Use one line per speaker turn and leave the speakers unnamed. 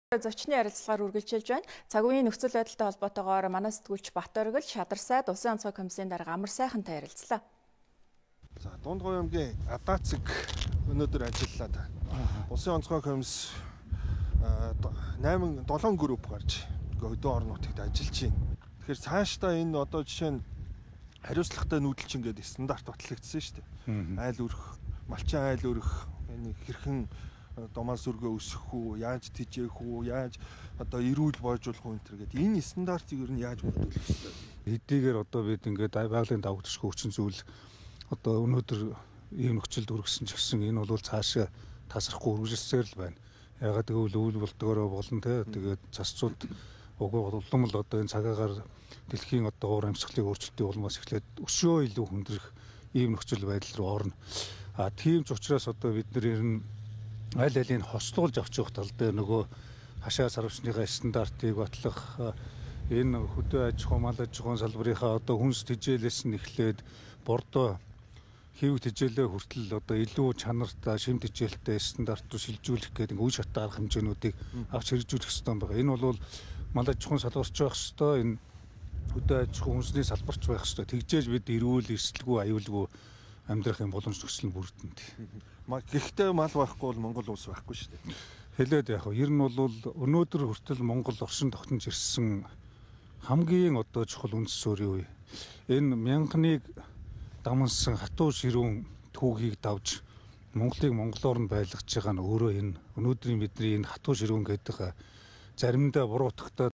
Зочны ярилцлагаар үргэлжилж байна. Цаг үеийн нөхцөл байдалтай холбоотойгоор манай сэтгүүлч Бат Оргил, Шадарсайд Улсын онцгой комиссийн дарга Амар Сайхантай ярилцлаа.
За Дундгой аймгийн Адацэг өнөөдөр ажиллалаа та. Улсын онцгой комисс 7 групп гарч өдөө орнуудад ажиллаж байна. Тэгэхээр цаашдаа энэ одоо жишээ нь хариуцлагатай нүүдэлчин гэдэг стандарт батлагдсан шүү дээ. Айл өрх, малчин айл өрх, энэ хэрхэн домоос өргөө өсөх үү, яаж тижээх үү, яаж одоо эрүүл бойжуулах үү гэдэг. Энэ стандартыг ер нь яаж бүрдүүлэх вэ?
Эдгээр одоо бид ингээд байгалийн давагдчихгүй хүчин зүйл одоо өнөөдөр ийм нөхцөлд хүргэсэн ч гэсэн энэ бол цаашаа тасрахгүй үргэлжилсээр л байна. Ягаад гэвэл үйл болдгоороо болон тэгээд засцууд угуу улам л одоо энэ цагаагаар дэлхийн одоо уур амьсгалын өөрчлөлтийн улмаас эхлээд өшөө илүү хүндрэх ийм нөхцөл байдал руу орно. Тийм ч учраас одоо бид нэр ер нь аль алийг хослуулж авч явах тал дээр нөгөө хашаа сарвчныхаа стандартыг батлах энэ хөдөө аж ахуй, мал аж ахуйн салбарынхаа одоо хүнс тэжээлээс нь эхлээд бордоо хэв тэжээлээ хүртэл одоо илүү чанартай, шим тэжээлтэй стандарт руу шилжүүлэх гэдэг үе шат арга хэмжээнүүдийг авч хэрэгжүүлэх ёстой байгаа. Энэ бол мал аж ахуйн салбарч байх ёстой, энэ хөдөө аж ахуй хүнсний салбарч байх ёстой. Тэгжээж бид эрүүл, эрсдэлгүй, аюулгүй амьдрах юм боломж нөхцөл нь бүрдэнд.
Гэхдээ мал байхгүй бол Монгол улс байхгүй шүү дээ.
Хэлээд яг ер нь бол өнөөдөр хүртэл Монгол оршин тогтнож ирсэн хамгийн одоо чухал үндэс суурийн үе. Энэ мянганыг дамнсан хатуу ширүүн түүхийг давж Монголыг монголоор нь байлгаж байгаа нь өөрөө энэ өнөөдрийн бидний энэ хатуу ширүүн гэдэг заримдаа буруутгахтаа